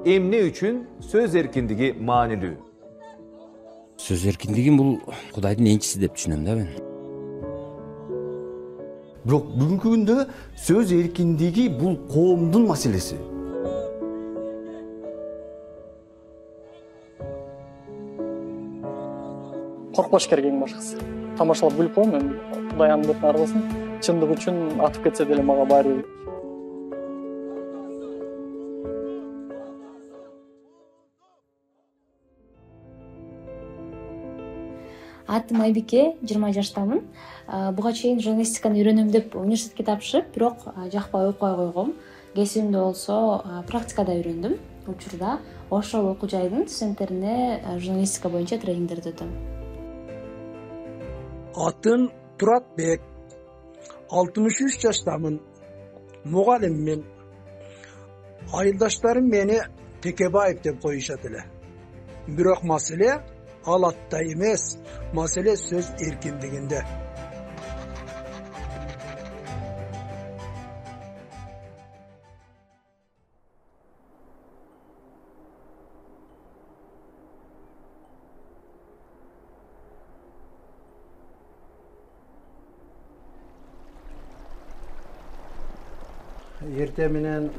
эмне үчүн сөз эркиндиги маанилүү? Сөз эркиндиги бул Кудайдын энчиси деп түшүнөм да мен. Бирок бүгүнкү күндө сөз эркиндиги бул коомдун маселеси. Коркпош керек эң башкысы. Тамашалап күлүп коем мен. Кудай аны деп аргылсын. Чындык үчүн атып кетсе деле мага баары бир. Атым Айбике, 20 жаштамын. Буга чейин журналистиканы үйрөнөм деп университетке тапшырып, бирок жакпай окуй койгом. Кесибимде болсо практикада үйрөндүм. Учурда ошол окуу жайдын студенттерине журналистика боюнча тренингдерди өтөм. Атым Туратбек, 63 жаштамын. Мугалиммин. Айылдаштарым мени Текебаев деп коюшат эле. Бирок маселе ал атта эмес, маселе сөз эркиндигинде. Эрте менен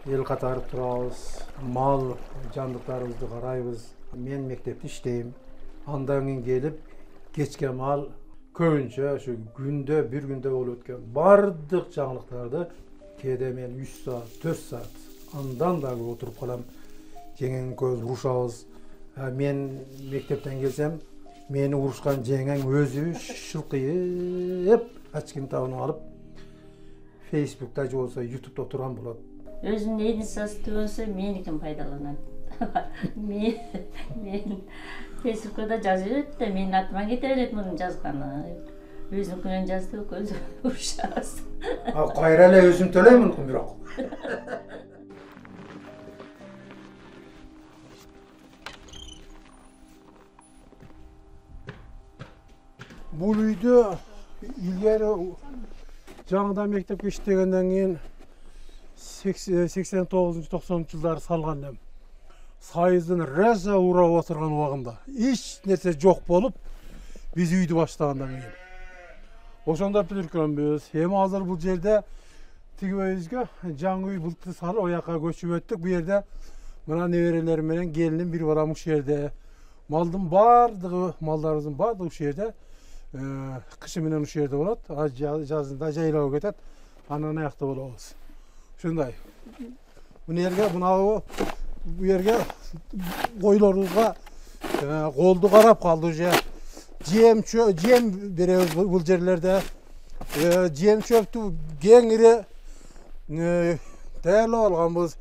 эл катары турабыз, мал жандыктарыбызды карайбыз. Мен мектепте иштейм. Андан кийин келип, кечке мал көбүнчө ошо күндө, бир күндө болуп өткөн бардык жаңылыктарды кээде мен 3 саат, 4 саат андан дагы отуруп калам. Жеңең көз урушабыз. Мен мектептен келсем, мени урушкан жеңең өзү шылкыйып, ачкин табынып алып, Facebook'ta же болсо YouTube'da отурган болот. Өзүнүн эдисасы түбөнсө меникин пайдаланат. Мен Facebook'та жазып жүрөт да менин атыма кете берет мунун жазганы. Өзүнүкүнөн жазды, көзү урушабыз. Кайра эле өзүм төлөймүн бирок. Бул үйдө илгери жаңыдан мектепке иштегенден кийин 89-90 жылдары салган элем. Сайыздын раза урап отурган убагында эч нерсе жок болуп, биз үйдү баштагандан кийин. Ошондо бүтүркөнбүз. Эми азыр бул жерде тигибейбизге жаңы үй былтыр салып, ояка көчүп өттүк. Бу жерде мына неберелерим менен келиним бир барам ушул жерде. Малдын бардыгы, малдарыбыздын бардыгы ушул жерде. Кышы менен ушул жерде болот, жазында жайлауга кетет, анан аякта болобуз. Ушундай. Бул жерге, бу жерге койлорубузга колду карап калды уже. Жем беребиз бул жерлерде. Жем чөптү кеңири даярдап алганбыз.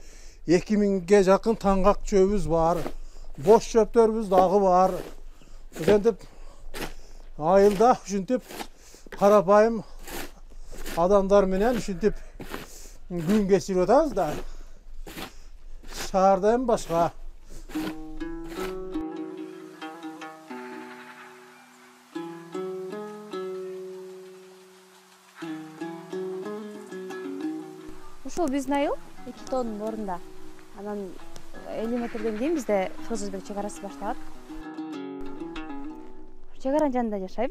2000ге жакын таңгак чөбүбүз бар. Бош чөптөрүбүз дагы бар. Ошентип айылда ушинтип карапайым адамдар менен ушинтип күн кечирип атабыз да. Шаарда эми башка. Ушул биздин айыл 2 тоонун орунда. Анан 50 метрден кийин бизде Кыргыз-Өзбек чек арасы башталат. Чек аранын жанында жашайм.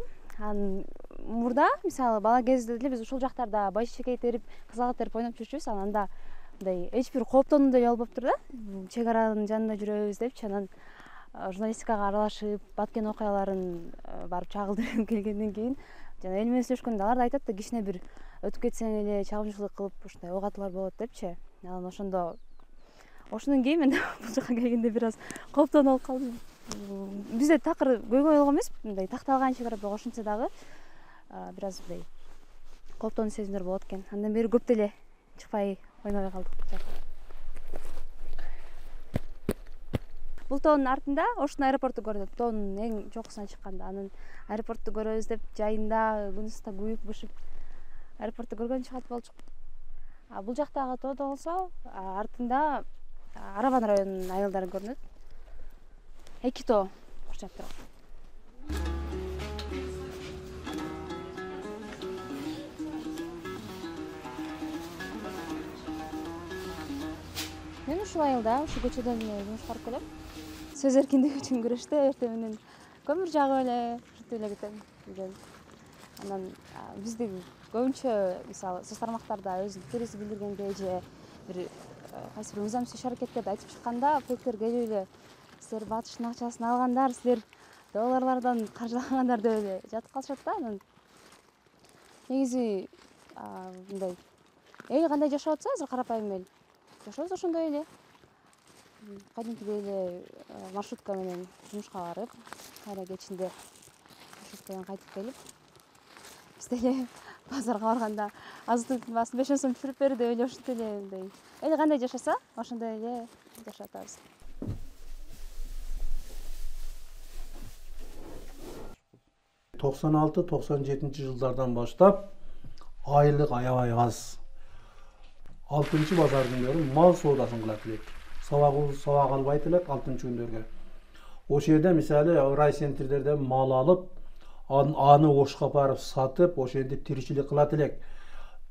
Мурда мисалы бала кезде деле биз ушул жактарда байшекей терип, кызгак терип ойноп жүрчүбүз. Анда мындай эч бир кооптонуудай болбоптур да. Чек аранын жанында жүрөбүз депчи, анан журналистикага аралашып, баткен окуяларын барып чагылдырып келгенден кийин жана эл менен сүйлөшкөндө алар да айтат да, кичине бир өтүп кетсең эле чагымчылык кылып ушундай ок атуулар болот депчи. Анан ошондон кийин мен бул жака келгенде бир аз кооптонуп алып калдым. Бизде такыр көйгөй болгон эмес, мындай такталган чек ара, бирок ошентсе дагы бир аз мындай кооптонуу сезимдер болот экен. Андан бери көп деле чыкпай ойнобой калдык. Бул тоонун артында Ошун аэропорту көрүнөт. Тоонун эң чокусуна чыкканда анан аэропорту көрөбүз деп жайында күнүстө күйүп бышып аэропорту көргөн чыгат болчук. Бул жактагы тоодо болсо артында Арабан районунун айылдары көрүнөт. 2 тоо курчап турат. Мен ушул айылда, ушу көчөдөн жумушка барып келем. Сөз эркиндиги үчүн күрөштө эртең менен көмүр жагып эле жүрүп эле кетем. Анан бизди көбүнчө мисалы соц тармактарда өзүнүн пикирибизди билдиргенде же бир кайсы бир мыйзамсыз иш аракеттерди айтып чыкканда поликтер келип эле силер батыштын акчасын алгандар, силер долларлардан каржылагандар деп эле жатып калышат да. Анан негизи мындай эл кандай жашап атса, азыр карапайым эл жашообуз ошондой эле. Кадимкидей эле маршрутка менен жумушка барып, кайра кечинде маршруткадан кайтып келип, биз деле базарга барганда азык-түлүктүн баасын 5 сом түшүрүп бер деп эле ошентип эле мындай эл кандай жашаса, ошондой эле жашап атабыз. Токсон алты, 97 жылдардан баштап айлык аябай аз. 6 базар күндөрү мал соодасын кылат элек. Сабак албайт элек 6 күндөргө. Ошол жерде мисалы райцентрлерден мал алып, аны Ошко барып сатып, ошентип тиричилик кылат элек.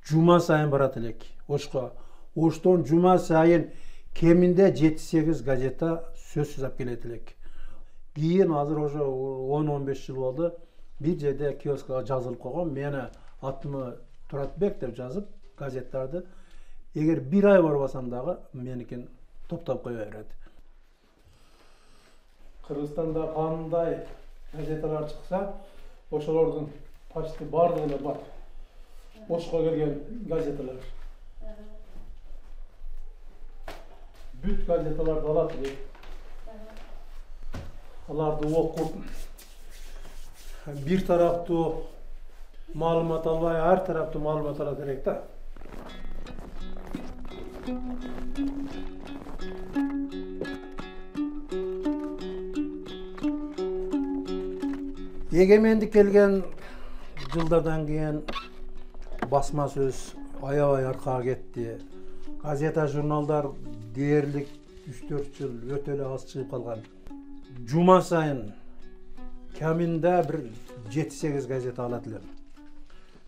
Жума сайын барат элек Ошко. Оштон жума сайын кеминде 7-8 газета сөз жазып келет элек. Кийин азыр ошо 10-15 жыл болду. Бир жерде киоскага жазылып койгон, мени атымы Туратбек деп жазып газеттарды. Эгер бир ай барбасам дагы меникин топтоп кое берет. Кыргызстанда кандай газеталар чыкса, ошолордун почти бардыгы бар. Ошко келген газеталар. Бүт газеталарды алат элек. Аларды окуп, бир тараптуу маалымат албай, ар тараптуу маалымат алат элек да. Эгемендик келген жылдардан кийин басма сөз аябай аркага кетти. Газета, журналдар дээрлик 3-4 жыл өтө эле аз чыгып калган. Жума сайын каминде бир 7-8 газета алат элем.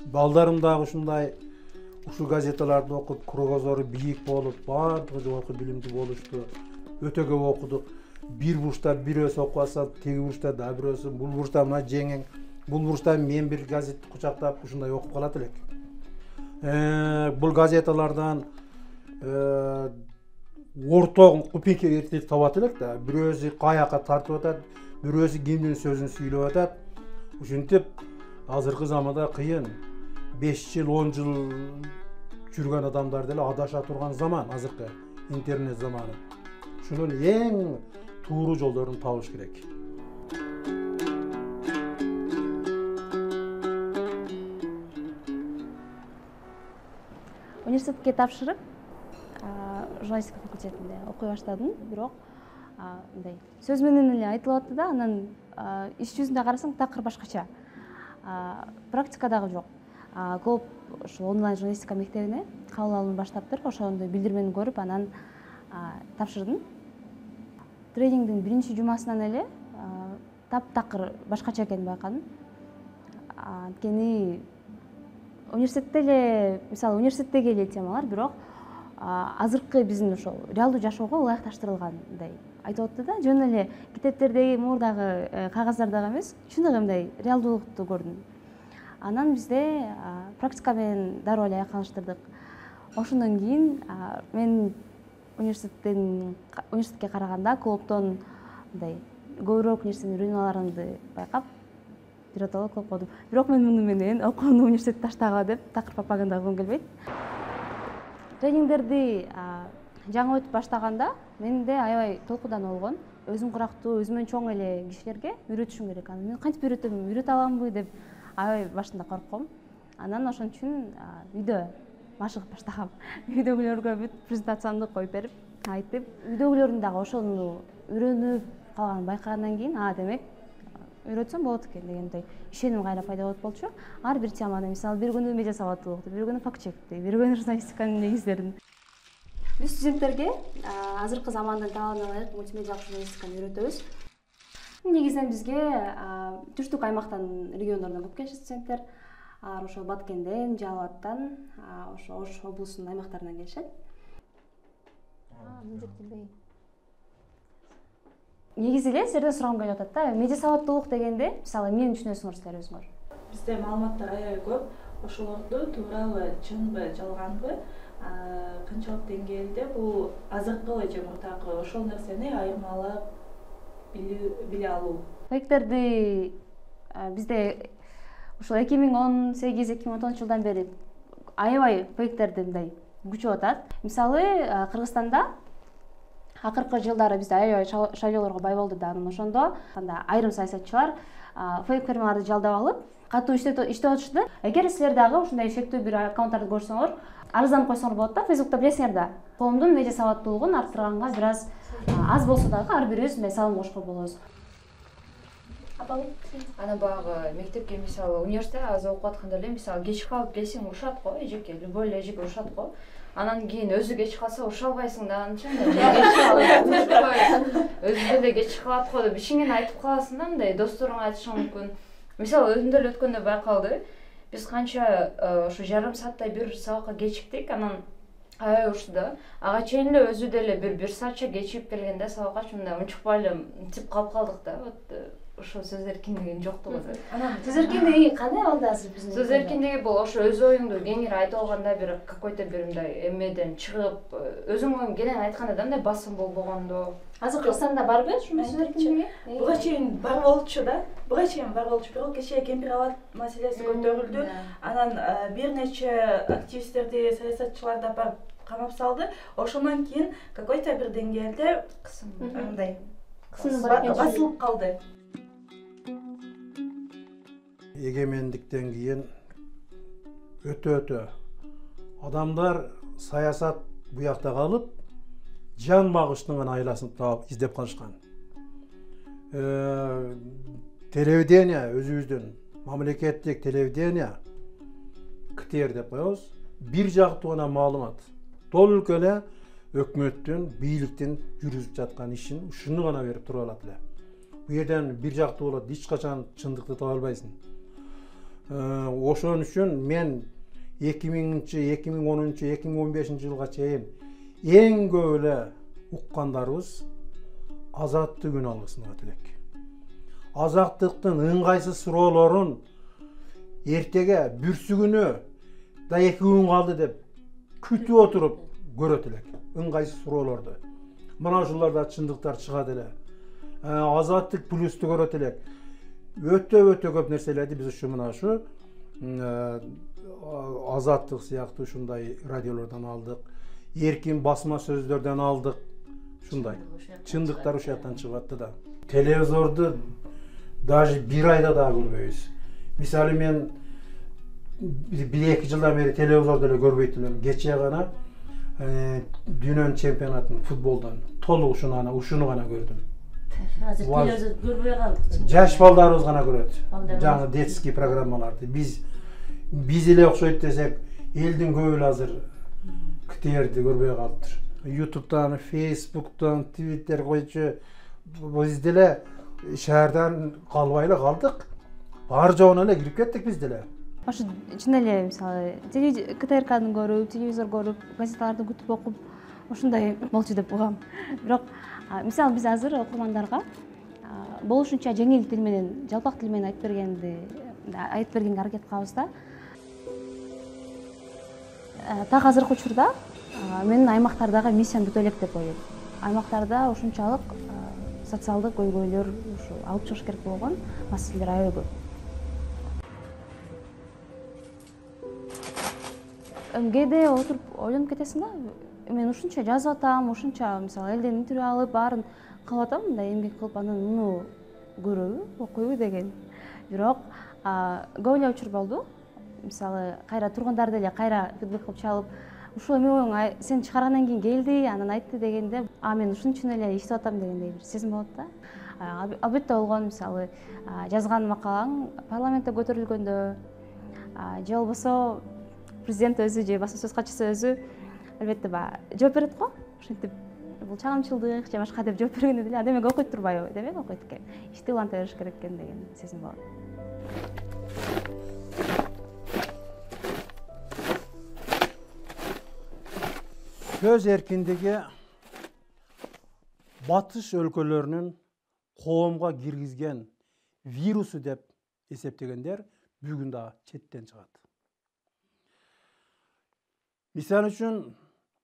Балдарым дагы ушундай ушул газеталарды окуп, кругозору бийик болуп, баардыгы жогорку билимдүү болушту. Өтө көп окудук. Бир бурчта бирөөсү окуп алса, теги бурчта да бирөөсү, бул бурчта мына жеңең, бул бурчта мен бир газетти кучактап ушундай окуп калат элек. Бул газеталардан орток купейка эртелик табат элек да. Бирөөсү каяка тартып атат, бирөөсү кимдин сөзүн сүйлөп атат. Ушинтип азыркы заманда кыйын. 5 жыл, 10 жыл жүргөн адамдар деле адаша турган заман азыркы интернет заманы. Шунун эң тууру жолдорун табыш керек. Университетке тапшырып, журналистика факультетинде окуй баштадым, бирок мындай сөз менен эле айтылып атты да, анан иш жүзүндө карасаң такыр башкача. Практика дагы жок. Көп ошо онлайн журналистика мектебине кабыл алууну баштаптыр. Ошондой билдирмени көрүп, анан тапшырдым. Тренингдин биринчи жумасынан эле таптакыр башкача экенин байкадым. Анткени университетте эле, мисалы университеттеги эле темалар, бирок азыркы биздин ошол реалдуу жашоого ылайыкташтырылгандай айтып атты да. Жөн эле китептердеги, мурдагы кагаздардагы эмес, чындыгы мындай реалдуулукту көрдүм. Анан бизде практика менен дароо эле айкалыштырдык. Ошондон кийин мен университетке караганда клубтон мындай көбүрөөк нерсени үйрөнүп аларымды байкап, биротоло клуб курдум. Бирок мен муну менен окууну университетти таштагыла деп такыр пропаганда кылгым келбейт. Тренингдерди жаңы өтүп баштаганда менде аябай толкудан болгон. Өзүм курактуу, өзүмөн чоң эле кишилерге үйрөтүшүм керек. Анан мен кантип үйрөтөм, үйрөтө аламбы деп аябай башында коркком. Анан ошон үчүн үйдө машыгып баштагам. Үйдөгүлөргө бүт презентациямды коюп берип, айтып, үйдөгүлөрдүн дагы ошону үйрөнүп калганын байкагандан кийин, демек үйрөтсөм болот экен дегендей ишеним кайра пайда болуп болчу. Ар бир теманы, мисалы бир күнү медиа сабаттуулукту, бир күнү факт чекти, бир күнү журналистиканын негиздерин. Биз студенттерге азыркы замандын талабына ылайык мультимедиалык журналистиканы үйрөтөбүз. Негизинен бизге түштүк аймактан, региондордон көп келишет студенттер. Ошо Баткенден, Жалал Абадтан, ошо Ош облусунун аймактарынан келишет. Міндеттенбей. Негизи эле силерден сурагым келип атат да. Медиа сабаттуулук дегенде, мисалы, эмнени түшүнөсүңөр силер өзүңөр? Бизде маалыматтар аябай көп. Ошолорду туурабы, чынбы, жалганбы, канчалык деңгээлде бул азыркы же мурдагы ошол нерсени айырмалап биле алуу. Фейктерди бизде ошол 2018-2019 жылдан бери аябай фейктерди мындай күчөп атат. Мисалы, Кыргызстанда акыркы жылдары бизде аябай шайлоолорго бай болду да, анан ошондо айрым саясатчылар фейк фермаларды жалдап алып, катуу иштеп атышты. Эгер силер дагы ушундай шектүү бир аккаунттарды көрсөңөр, арызданып койсоңор болот да, Facebook'та билесиңер да. Коомдун медиа сабаттуулугун арттырганга бир аз болсо дагы ар бирибиз мындай салым кошко болобуз. Ана баягы мектепке мисалы университетте аз окуп атканда эле мисалы кеч калып келсең урушат го, эжеке, любой эле эжеке урушат го. Анан кийин өзү кеч калса уруша албайсың да, анча өзү деле кеч калат го деп ишиңени айтып каласың да, мындай досторуңа айтышың мүмкүн. Мисалы өзүм деле өткөндө байкалды. Биз канча ошо жарым сааттай бир сабакка кечиктик, анан аябай урушты да. Ага чейин эле өзү деле бир саатча кечигип келгенде сабакка мындай унчукпай эле мынтип калып калдык да. Вот ошо сөз эркиндигинин жоктугу. Сөз эркиндиги кандай алды азыр биздин? Сөз эркиндиги бул ошо өз оюңду кеңири айтып алганда бир какой-то бир мындай эмеден чыгып, өзүң оюң кенен айтканда да мындай басым болбогондо. Азыр Кыргызстанда барбы ушундай сөз эркиндиги? Буга чейин бар болчу да. Буга чейин бар болчу. Бирок кечээ кемпир абад маселеси көтөрүлдү. Анан бир нече активисттерди, саясатчыларды апарып камап салды. Ошондон кийин какой-то бир деңгээлде мындай басылып калды. Эгемендиктен кийин өтө адамдар саясат буякта калып, жан багыштын гана айласын таап издеп калышкан. Телевидение өзүбүздүн мамлекеттик телевидение КТР деп коебуз. Бир жактуу гана маалымат. Толук эле өкмөттүн, бийликтин жүргүзүп жаткан ишин ушуну гана берип туруп алат эле. Бу жерден бир жактуу болот, эч качан чындыкты таба албайсың. Ошон үчүн мен 2010-2015 жылга чейин эң көп эле уккандарыбыз азаттык алгысына тилек. Азаттыктын ыңгайсыз суроолорун эртеге бүрсүгүнө да 2 күн калды деп күтүп отуруп көрөт элек. Ыңгайсыз суроолорду. Мына ушуларда чындыктар чыгат эле. Азаттык плюсту көрөт элек. Өтө көп нерселерди биз ушу мына ушу азаттык сыяктуу ушундай радиолордон алдык, эркин басма сөздөрдөн алдык. Ушундай чындыктар ушул жактан чыгып атты да. Телевизорду даже бир айда да көрбөйбүз. Мисалы мен 1-2 жылдан бери телевизорду эле көрбөйт элем. Кечээ гана дүйнөнүн чемпионатын футболдон толук ушуну гана көрдүм. Азыр телевизор көрбөй калдык. Жаш балдарыбыз гана көрөт. Жаңы детский программаларды. Биз эле окшойт десек, элдин көбү эле азыр КТРди көрбөй калыптыр. YouTube'дан, Facebook'tan, Twitter койчу биз деле шаардан калбай эле калдык. Бар жоона эле кирип кеттик биз деле. Ошо чын эле мисалы КТРКны көрүп, телевизор көрүп, газеталарды күтүп окуп, ошондой болчу деп угам. Бирок мисалы биз азыр окурмандарга болушунча жеңил тил менен, жалпак тил менен айтып бергенге аракет кылабыз да. Так азыркы учурда менин аймактардагы миссиям бүтө элек деп ойлойм. Аймактарда ушунчалык социалдык көйгөйлөр ушу алып чыгыш керек болгон маселелер аябай көп. МГД отуруп ойлонуп кетесиң да. Мен ушунча жазып атам, ушунча мисалы элден интервью алып, баарын кылып атам, мындай эмгек кылып анан муну көрөбү, окуйбу деген. Бирок көп эле учур болду. Мисалы кайра тургундар деле кайра фидбек кылып чалып, ушул эме оюң сен чыгаргандан кийин келди, анан айтты дегенде, мен ушун үчүн эле иштеп атам дегендей бир сезим болот да. Албетте болгон мисалы жазган макалаң парламентте көтөрүлгөндө же болбосо президент өзү же басма сөз катчысы өзү албетте жооп берет го. Ошентип бул чагымчылдык же башка деп жооп бергенде деле демек окуйт турбайбы, демек окуйт экен. Ишти уланта бериш керек экен деген сезим болот. Сөз эркиндиги батыш өлкөлөрүнүн коомго киргизген вирусу деп эсептегендер бүгүн да четтен чыгат. Мисалы үчүн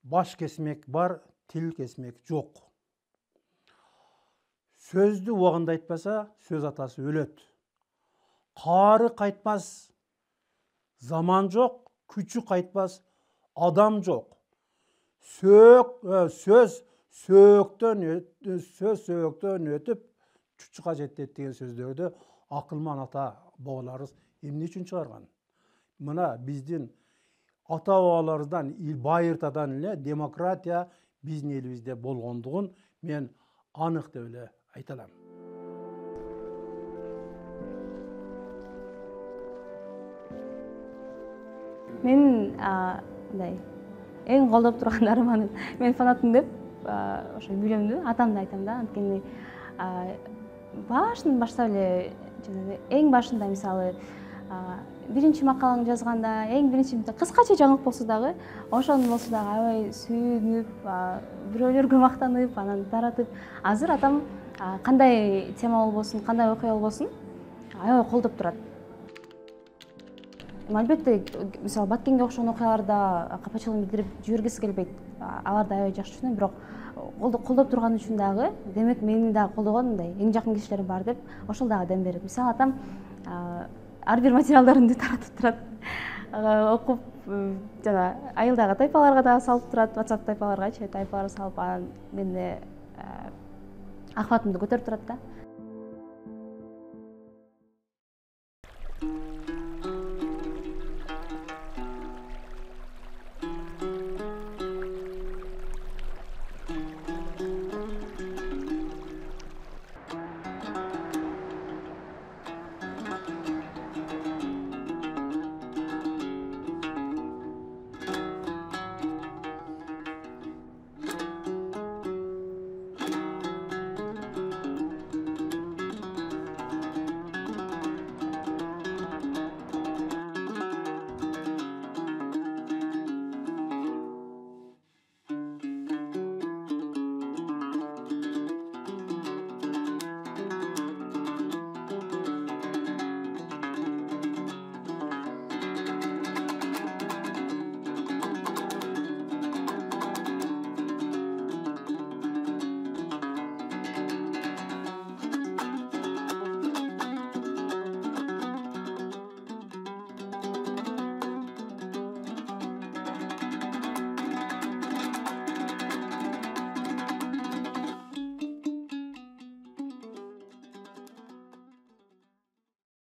баш кесмек бар, тил кесмек жок. Сөздү убагында айтпаса, сөз атасы өлөт. Каары кайтпас, заман жок, күчү кайтпас, адам жок. Сөз сөөктөн өтүп чучука жетет деген сөздөрдү акылман ата бабаларыбыз эмне үчүн чыгарган? Мына биздин ата бабаларыбыздан байыртадан эле демократия биздин элибизде болгондугун мен анык деп эле айта алам. Менин мындай эң колдоп турган арманым, мен фанатым деп ошо билемдүү, атамды айтам да. Анткени башынан баштап эле жанагы эң башында мисалы биринчи макалаңды жазганда, эң биринчи кыскача жаңылык болсо дагы, ошону болсо дагы аябай сүйүнүп, бирөөлөргө мактанып, анан таратып, азыр атам кандай тема болбосун, кандай окуя болбосун, аябай колдоп турат. Албетте, мисалы Баткенге окшогон окуяларда капачылыгын билдирип жибергиси келбейт. Аларды аябай жакшы түшүнөм, бирок колдоп турган үчүн дагы, демек мени дагы колдогон мындай эң жакын кишилерим бар деп, ошол дагы дем берет. Мисалы атам ар бир материалдарын таратып турат, окуп, жана айылдагы тайпаларга дагы салып турат, WhatsApp тайпаларга салып, анан менде акыбатымды көтөрүп турат да.